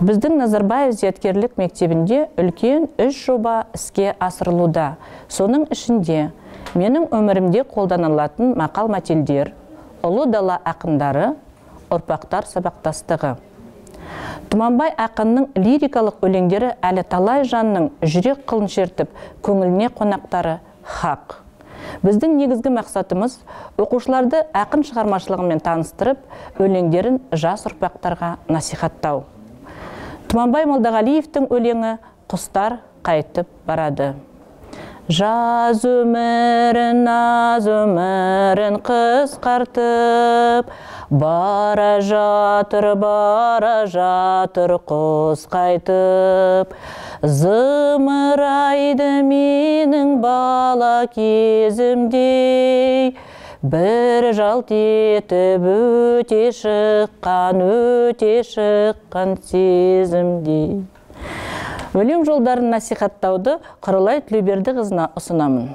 Біздің Назарбаев зияткерлік мектебінде үлкен 3 жоба іске асырылуда. Соның ішінде менің өмірімде қолданылатын мақал-мәтелдер, ұлы дала ақындары, ұрпақтар сабақтастығы. Тұманбай ақынның лирикалық өлеңдері әлі талай жанның жүрек қылын шертіп, көңіліне қонақтары хақ. Біздің негізгі мақсатымыз оқушыларды ақын шығармашылығымен таныстырып, өлеңдерін жас ұрпақтарға насихаттау. Тұманбай Молдағалиевтің өлеңі «Құстар қайтып барады». Жаз өмірін, наз өмірін қысқартып, бара жатыр құс қайтып. Зымырайды менің бала кезімдей, бір жалт етіп өте шыққан сезімдей. Өлең жолдарын насихаттауды Құралай Тілеубердіқызына ұсынамын.